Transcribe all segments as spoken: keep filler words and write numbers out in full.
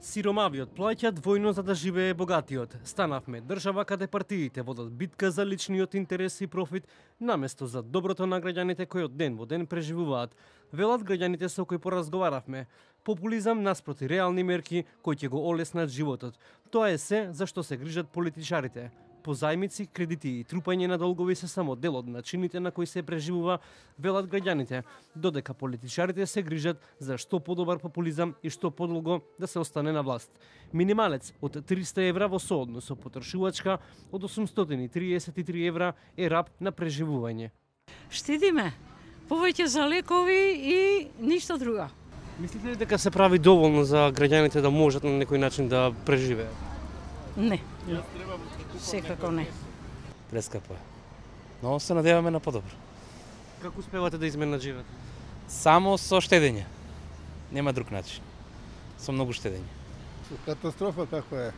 Сиромавиот плаќа двојно за да живее богатиот. Станавме држава каде партиите водат битка за личниот интерес и профит, наместо за доброто на граѓаните кои од ден во ден преживуваат. Велат граѓаните со кои поразговаравме. Популизам наспроти реални мерки кои ќе го олеснат животот. Тоа е се за што се грижат политичарите. Позајмици, кредити и трупање на долгови се само дел од начините на кои се преживува, велат граѓаните, додека политичарите се грижат за што подобар популизам и што подолго да се остане на власт. Минималец од триста евра во сооднос со потрошувачка од осумстотини триесет и три евра е раб на преживување. Штедиме повеќе за лекови и ништо друго. Мислите ли дека се прави доволно за граѓаните да можат на некој начин да преживеат? Не. Секако не. Прескапо е. Но се надеваме на подобро. Како успевате да изменаџирате? Само со штедење. Нема друг начин. Со многу штедење. Катастрофа како е.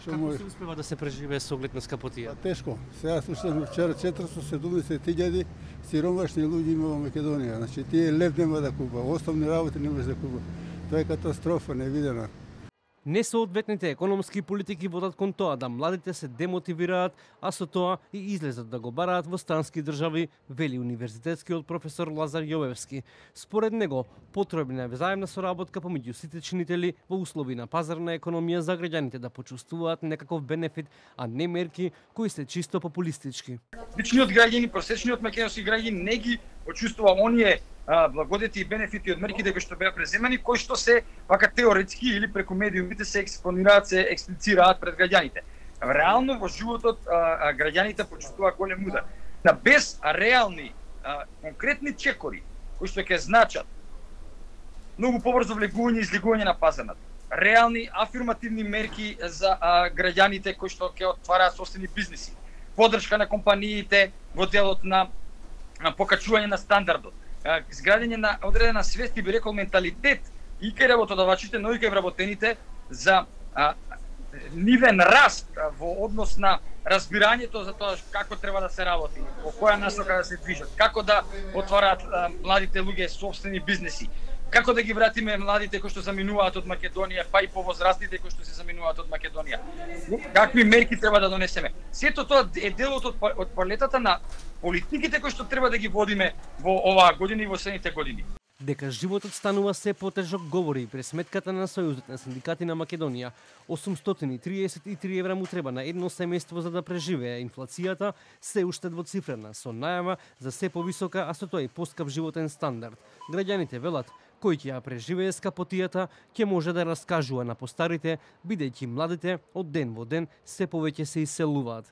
Што Како може? се успева да се преживее со оглед на скапотија? Па тешко. Сега слушам вчера четиристотини и седумдесет илјади сиромашни луѓе има во Македонија. Значи тие лев нема да купа, основни работи не може да купа. Тоа е катастрофа невидена. Несоодветните економски политики водат кон тоа да младите се демотивираат, а со тоа и излезат да го бараат во странски држави, вели универзитетскиот професор Лазар Јовевски. Според него, потребна е взаемна соработка помеѓу сите чинители во услови на пазарна економија за граѓаните да почувствуваат некаков бенефит, а не мерки кои се чисто популистички. Обичниот граѓани, просечниот македонски граѓани не ги почувствува оние благодети и бенефити од мерките кои што беа преземани, кои што се вака теоретски или преку медиумите се експонираат, се експлицираат пред граѓаните. Реално во животот а, а, граѓаните почувствуваат голем удар. На без реални а, конкретни чекори кои што ќе значат многу побрзо влегување и излегување на пазарот. Реални афирмативни мерки за а, граѓаните кои што ќе отвараат собствени бизниси. Поддршка на компаниите во делот на, на покачување на стандардот. Изградење на одредена свест и би рекол менталитет и кај работодавачите, но и кај вработените за а, нивен раст а, во однос на разбирањето за тоа како треба да се работи, во која насока да се движат, како да отвараат а, младите луѓе собствени бизнеси, како да ги вратиме младите кои што заминуваат од Македонија, па и повозрастните кои што се заминуваат од Македонија. Какви мерки треба да донесеме? Сето тоа е делот од, од палетата на политиките кои што треба да ги водиме во оваа година и во следните години. Дека животот станува се потежок говори и пресметката на Сојузот на синдикати на Македонија. осумстотини триесет и три евра му треба на едно семејство за да преживее. Инфлацијата се уште двоцифрена, со најава за се повисока, а со тоа и поскап животен стандард. Граѓаните велат, кој ќе ја преживее скапотијата, ќе може да раскажува на постарите, бидејќи младите од ден во ден се повеќе се иселуваат.